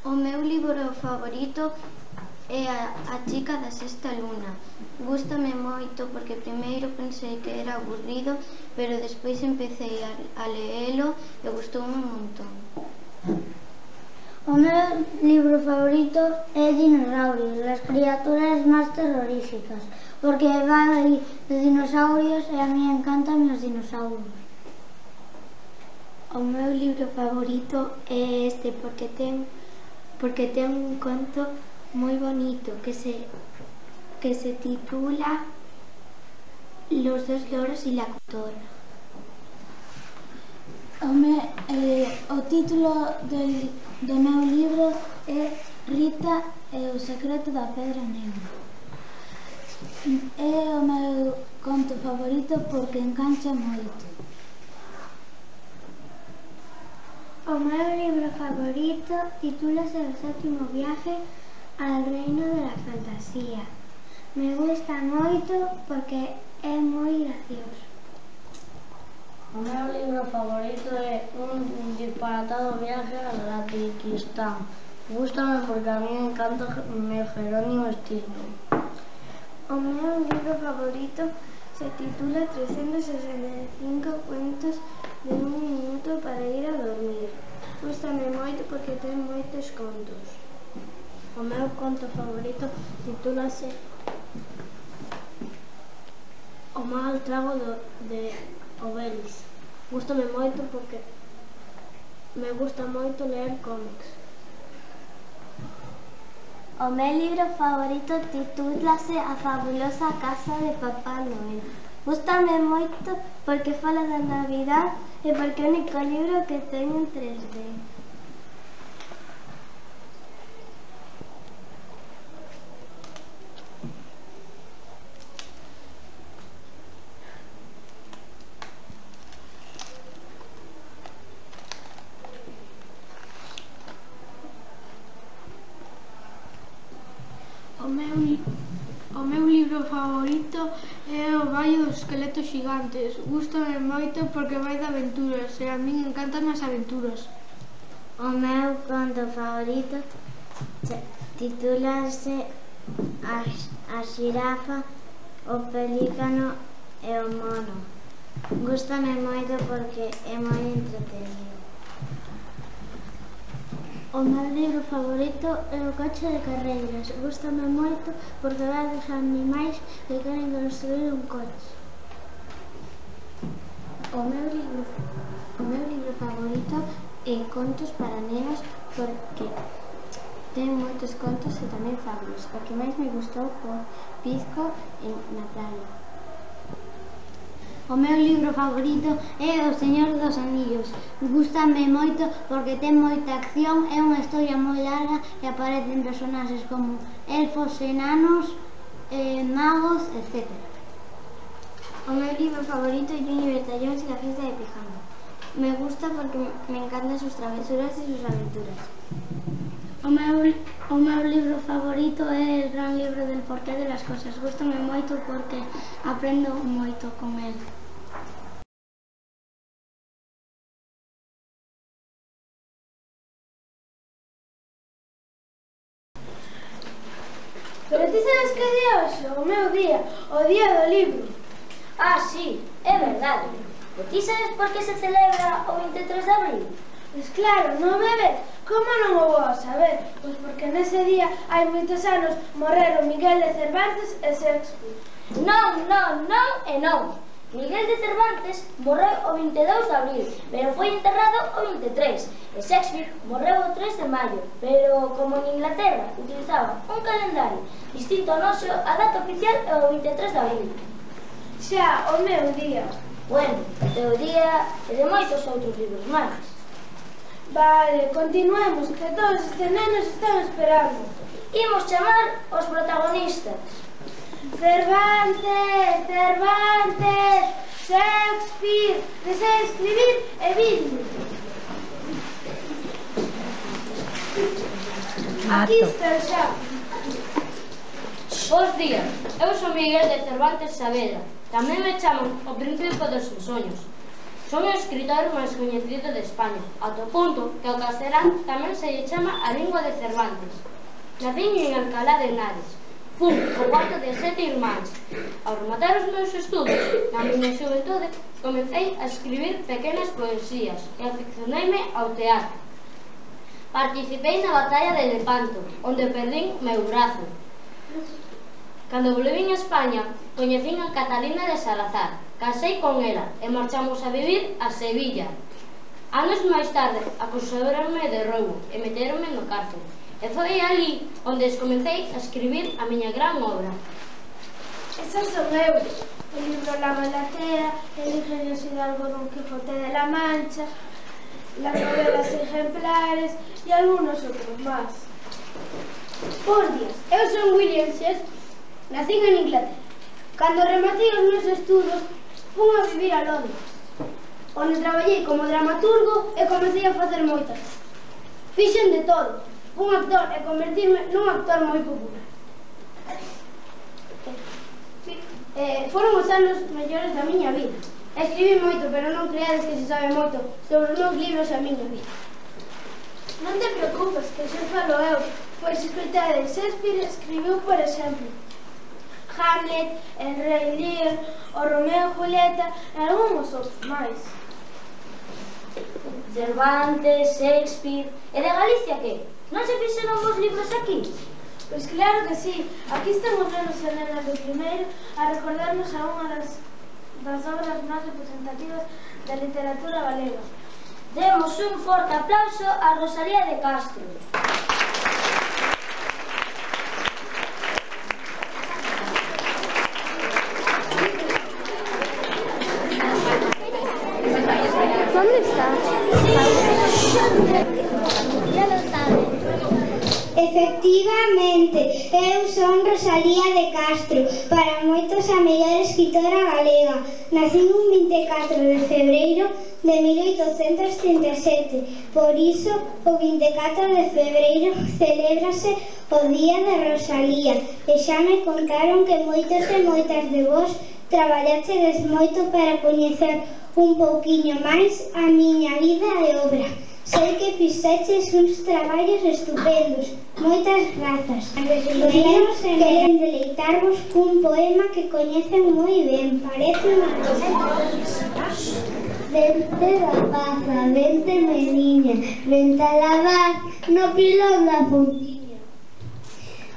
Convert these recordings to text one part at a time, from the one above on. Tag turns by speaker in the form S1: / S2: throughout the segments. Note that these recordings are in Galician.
S1: O meu libro favorito é A chica da sexta luna. Gústame moito porque primeiro pensei que era aburrido, pero despois empecé a leelo e gustoume un montón.
S2: O meu libro favorito é Dinosaurios, las criaturas máis terroríficas, porque vai de dinosaurios e a mí encantan os dinosaurios.
S1: O meu libro favorito é este porque ten un conto moi bonito que se titula Los dos loros y la cotorra.
S2: O título do meu libro é Rita e o secreto da pedra negra. É o meu conto favorito porque engancha moito.
S1: O meu libro favorito titúlase El séptimo viaje al reino de la fantasía. Me gusta moito porque é moi gracioso.
S3: O meu libro favorito é Un disparatado viaje al Kazajistán. Gústame porque a mí me encanta Jerónimo Stilton.
S1: O meu libro favorito se titula 365 cuentos de un minuto para ir a dormir. Gústame moito porque ten moitos contos.
S3: O meu conto favorito titúlase O mal trago de Obelix. Gústame moito porque me gusta moito ler cómics.
S1: O meu libro favorito titúlase A fabulosa casa de Papá Noel. Gústame moito porque fala da Navidad e porque é o único libro que teño en 3D.
S4: O meu libro favorito é O Valle dos esqueletos xigantes. Gústame moito porque vai de aventuras e a min encantan as aventuras.
S1: O meu conto favorito titúlase A xirafa, o pelícano e o mono. Gústame moito porque é moi entretenido.
S2: O meu libro favorito é O coche de carreiras. Gústame moito porque vai dos animais que queren construir un coche.
S1: O meu libro favorito é Contos para nenos porque ten moitos contos e tamén fábulas. O que máis me gustou foi Pisco na praia.
S2: O meu libro favorito é O Señor dos Anillos. Gústame moito porque ten moita acción, é unha historia moi larga e aparecen personaxes como elfos, enanos, magos, etc.
S1: O meu libro favorito é Junior Bertallóns y la fiesta de pijama. Me gusta porque me encantan sus travesuras y sus aventuras.
S2: O meu libro favorito é El gran libro del porqué de las cosas. Gústame moito porque aprendo moito con el.
S4: Pero ti sabes que día hoxe? O meu día, o día do libro.
S3: Ah, sí, é verdade. E ti sabes por que se celebra o 23 de abril?
S4: Pois claro, non me ves? Como non o vou a saber? Pois porque nese día hai moitos anos morreron Miguel de Cervantes e Shakespeare.
S3: Non e non. Miguel de Cervantes morreu o 22 de abril, pero foi enterrado o 23. E Shakespeare morreu o 3 de maio, pero como en Inglaterra utilizaba un calendario distinto ao noso, a data oficial é o 23 de abril.
S4: Xa, o meu día.
S3: Bueno, o teu día e de moitos outros libros máis.
S4: Vale, continuemos, que todos estes nenos están esperando.
S3: Imos chamar os protagonistas.
S4: Cervantes, Shakespeare, desea escribir e vidme. Aquí está xa.
S3: Bos días, eu son Miguel de Cervantes Saavedra. Tamén me chaman o Príncipe dos Ensoños. Son o escritor máis coñecido de España, ata o punto que ao castelán tamén se lle chama a lingua de Cervantes. Nacín en Alcalá de Henares. Fun o cuarto de 7 irmáns. Ao rematar os meus estudos, na miña xuventude, comecei a escribir pequenas poesías e aficioneime ao teatro. Participei na batalla de Lepanto, onde perdín meu brazo. Cando volvín a España, coñecín a Catalina de Salazar, casei con ela e marchamos a vivir a Sevilla. Anos máis tarde, acusáronme de roubo e meteronme no cárcel. E foi ali onde comecei a escribir a miña gran obra.
S5: Esas son eu, o libro La Galatea, el ingenioso hidalgo Don Quijote de la Mancha, las novelas ejemplares y algunos otros más. Por Dios, eu son William Shakespeare, nací en Inglaterra. Cando rematei os meus estudos, fun a vivir a Londres, onde traballei como dramaturgo e comecei a facer moitas. Fixen de todo, fun actor e convertirme nun actor moi popular. Foron os anos mellores da miña vida. Escribí moito, pero non creades que se sabe moito sobre os meus libros e a miña vida. Non te preocupes, que xa falo eu, pois escrita de Shakespeare escribiu, por exemplo, Hamlet, El Rei Lear, o Romeo e Julieta e algúns outros máis.
S3: Cervantes, Shakespeare... E de Galicia que? Non se fixeron vos libros aquí?
S5: Pois claro que sí, aquí están os nenos e nenas do primeiro a recordarnos a unha das obras máis representativas da literatura galega.
S3: Demos un forte aplauso a Rosalía de Castro.
S1: ¿Dónde estás?
S2: Ya lo sabes. Efectivamente, eu son Rosalía de Castro, para moitos a mellor escritora galega. Nacín un 24 de febreiro de 1837, por iso o 24 de febreiro celébrase o Día de Rosalía, e xa me contaron que moitos e moitas de vos traballachedes moito para coñecer un pouquiño máis a miña vida e obra. Sei que fixeches uns traballos estupendos. Moitas grazas. Os nenos queren deleitarvos cun poema que coñecen moi ben. Parece unha cosa. Vente da paza, vente meniña, vente a lavar no pilón da puntiña.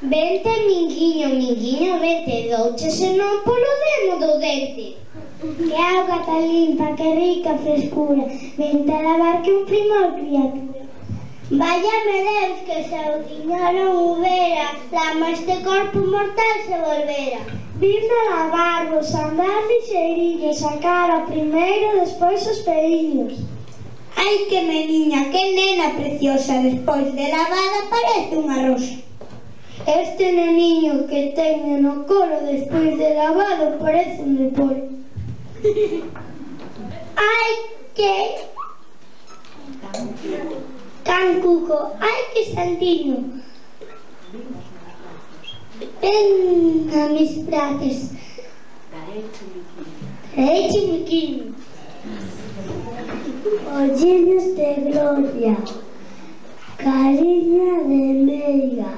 S2: Vente minguiño, minguiño, vente douche, senón polo demo do dente. Que auga tan limpa, que rica frescura, vente a lavar que un primor criatura. Váyame Deus que se o tiña non houbera, lama este corpo mortal se volvera. Vinde a lavarvos, andar lixeirinhos, a cara primeiro, despois os peliños. Ai que meniña, que nena preciosa, despois de lavada parece unha rosa. Este neniño que teño no colo despois de lavado parece un repollo. Ai que cancuco, ai que santiño. Ven a mis brazos, derecho miquiño, olliños de gloria, cariña de meiga,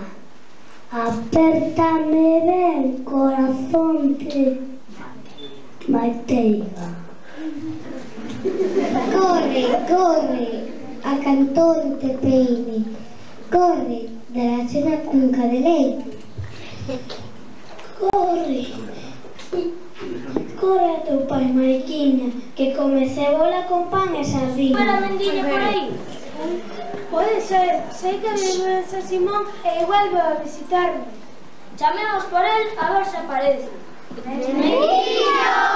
S2: apértame ben, corazón te mateiga. Corre, corre, a cantón te peine, corre, darás unha cunca de leite. Corre, corre a teu pai, mariquiña, que come cebola con pan e sardina.
S3: Para a mendiña por aí?
S5: Pode ser, sei que vive en San Simón e igual vou a visitarme.
S3: Chamemos por el a ver se aparece.
S5: ¡Mendiño!